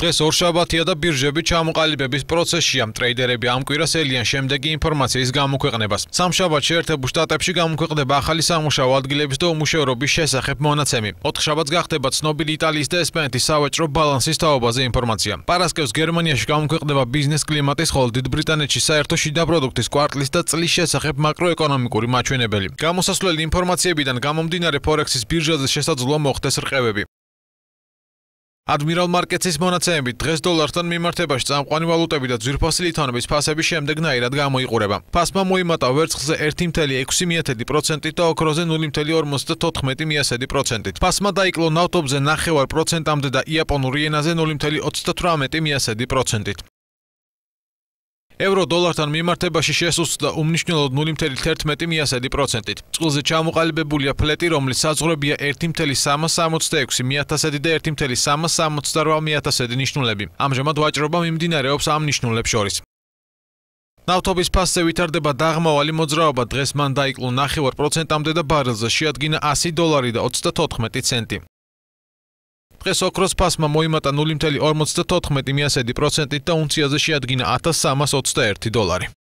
დღეს ორშაბათია და ბირჟები ჩამოყალიბების პროცესშია. ტრეიდერები ამ კვირას ელიან შემდეგი ინფორმაციის გამოქვეყნებას. სამშაბათს შეერთებულ შტატებში გამოქვეყნდება ახალი სამუშაო ადგილების და უმუშევრობის შესახებ მონაცემი. 4 შაბათს გახდება ცნობილი იტალიის და ესპანეთის სავაჭრო ბალანსის თაობაზე ინფორმაცია. პარასკევს გერმანიაში გამოქვეყნდება ბიზნეს კლიმატის, ხოლო დიდ ბრიტანეთში საერთო შიდა პროდუქტის კვარტლის და წლის შესახებ მაკროეკონომიკური მაჩვენებელი. გამოსასვლელი ინფორმაციებიდან გამომდინარე ფორექსის ბირჟაზე შესაძლოა მოხდეს რყევები. Admiral Markets-ის მონაცემებით დღეს დოლართან მიმართებაში წამყვანი ვალუტები და ძვირფასი ლითონების ფასები შემდეგნაირად გამოიყურება. ფასმა მოიმატა ვერცხლზე 1.6% და ოქროზე 0.54%. ფასმა დაიკლო ნავთობზე 0.5%-მდე და იაპონურ იენაზე 0.38%. Ევრო დოლართან მიმართებაში შესუსტდა უმნიშვნელოდ 0.11%. წყლზე ჩამოყალიბებულია ფლეტი, რომლის საზღვრებია 1.366 1000 და 1.368 1000 ნიშნულები. ამჟამად ვაჭრობა მიმდინარეობს ამ ნიშნულებს შორის. ნავთობის ფასზე ვითარდება დაღმავალი მოძრაობა, დღეს მან დაიკლო 0.5%-მდე და ბარელზე შეადგინა $100 და 94 ცენტი. დღეს ოქროს ფასმა მოიმატა 0.54% და უნციაზე შეადგინა $1321.